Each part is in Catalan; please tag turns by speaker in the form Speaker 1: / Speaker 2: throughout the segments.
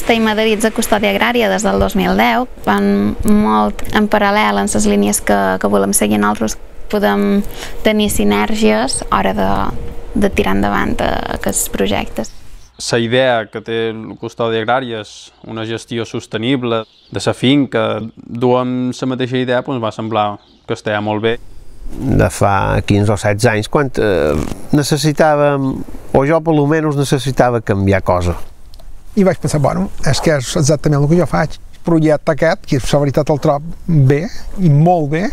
Speaker 1: Estem adherits a Custòdia Agrària des del 2010, van molt en paral·lel en les línies que volem seguir nosaltres. Podem tenir sinergies a l'hora de tirar endavant aquests projectes.
Speaker 2: La idea que té Custòdia Agrària és una gestió sostenible de la finca. Duem la mateixa idea, ens va semblar que estava molt bé.
Speaker 3: De fa 15 o 16 anys, quan necessitàvem, o jo per almenys necessitava canviar cosa.
Speaker 4: I vaig pensar, bueno, és que és exactament el que jo faig. El projecte aquest, que la veritat el trob bé, i molt bé,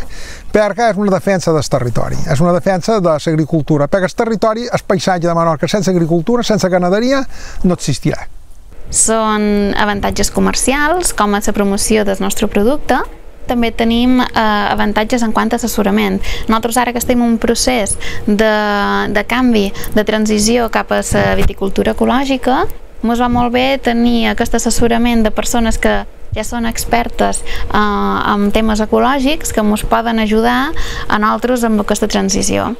Speaker 4: perquè és una defensa del territori, és una defensa de l'agricultura, perquè el territori, el paisatge de Menorca sense agricultura, sense ganaderia, no existirà.
Speaker 1: Són avantatges comercials, com a la promoció del nostre producte. També tenim avantatges en quant a assessorament. Nosaltres ara que estem en un procés de canvi, de transició cap a la viticultura ecològica, ens va molt bé tenir aquest assessorament de persones que ja són expertes en temes ecològics que ens poden ajudar a nosaltres amb aquesta transició.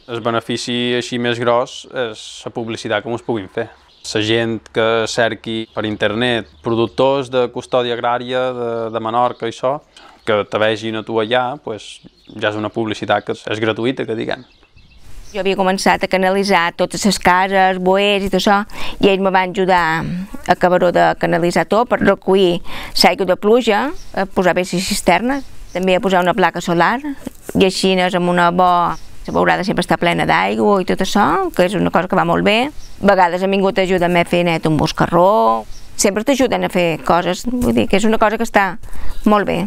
Speaker 2: El benefici així més gros és la publicitat que ens puguin fer. La gent que cerqui per internet productors de custòdia agrària de Menorca i això, que te vegin a tu allà, ja és una publicitat que és gratuïta, que diguem.
Speaker 5: Jo havia començat a canalitzar totes les cases, boers i tot això, i ells me van ajudar a acabar-ho de canalitzar tot per recollir l'aigua de pluja, a posar bé les cisternes, també a posar una placa solar, i així amb una la beurada sempre està plena d'aigua i tot això, que és una cosa que va molt bé. A vegades han vingut a ajudar-me a fer net un boscarró, sempre t'ajuden a fer coses, vull dir que és una cosa que està molt bé.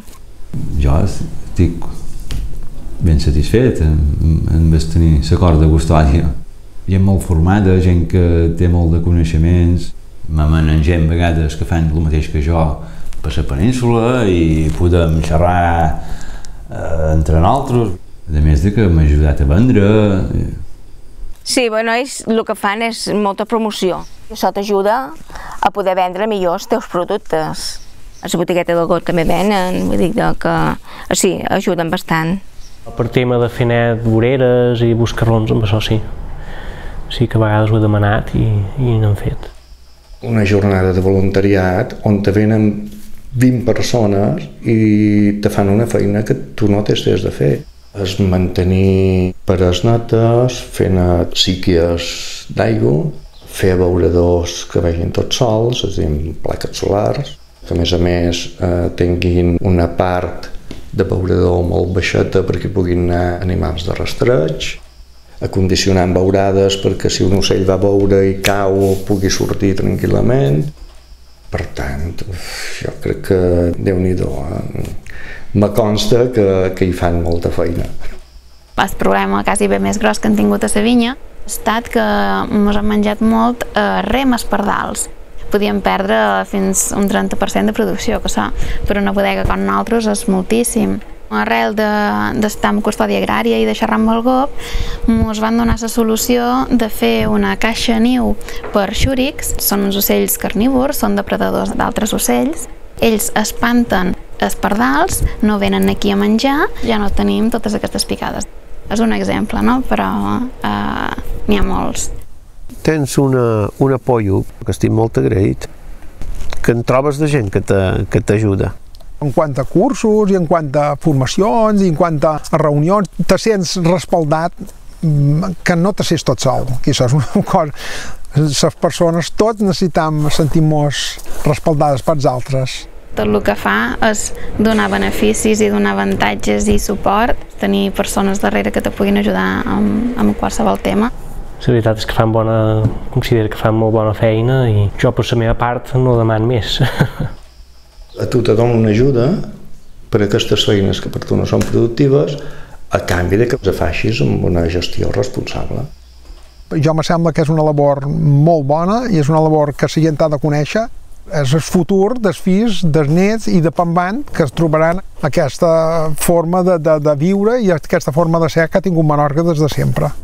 Speaker 6: Jo estic ben satisfet amb tenir l'acord de custòdia. Gent molt formada, gent que té molt de coneixements, m'amenen gent a vegades que fan el mateix que jo per la península i podem xerrar entre nosaltres. A més de que m'ha ajudat a vendre.
Speaker 5: Sí, bueno, ells el que fan és molta promoció. Això t'ajuda a poder vendre millor els teus productes. A la botigueta del got també venen, vull dir que sí, ajuden bastant.
Speaker 7: Per tema de fer net voreres i boscarrons, amb això sí. Sí que a vegades ho he demanat i n'hem fet.
Speaker 8: Una jornada de voluntariat on te venen 20 persones i te fan una feina que tu no t'has de fer. És mantenir pares netes, fer síquies d'aigua, fer abeuradors que vegin tots sols, és a dir, plaques solars, que a més tinguin una part d'abeurador molt baixeta perquè puguin anar animals de rastreig, acondicionar amb beurades perquè si un ocell va a beure i cau pugui sortir tranquil·lament. Per tant, jo crec que Déu-n'hi-do, me consta que hi fan molta feina.
Speaker 1: El problema quasi bé més gros que han tingut a la vinya ha estat que ens han menjat molt remes pardals. Podíem perdre fins un 30% de producció, que això per una bodega com nosaltres és moltíssim. Arrel d'estar amb Custòdia Agrària i de xerrar amb el GOP, ens van donar la solució de fer una caixa niu per xúrics. Són uns ocells carnívors, són depredadors d'altres ocells. Ells espanten els pardals, no venen aquí a menjar, ja no tenim totes aquestes picades. És un exemple, no? Però n'hi ha molts.
Speaker 3: Tens un apoyo, que estic molt agraït, que en trobes de gent que t'ajuda.
Speaker 4: En quant a cursos, i en quant a formacions, i en quant a reunions, te sents respaldat, que no te sents tot sol, que això és una cosa. Les persones, tots necessitem sentir-nos respaldades pels altres.
Speaker 1: Tot el que fa és donar beneficis i donar avantatges i suport, tenir persones darrere que te puguin ajudar amb qualsevol tema.
Speaker 7: La veritat és que considero que fan molt bona feina i jo per la meva part no demano més.
Speaker 8: A tu te dono una ajuda per a aquestes feines que per tu no són productives a canvi de que les facis amb una gestió responsable.
Speaker 4: Jo me sembla que és una labor molt bona i és una labor que la gent ha de conèixer. És el futur dels fills, dels nets i de pambant que es trobaran aquesta forma de viure i aquesta forma de ser que ha tingut Menorca des de sempre.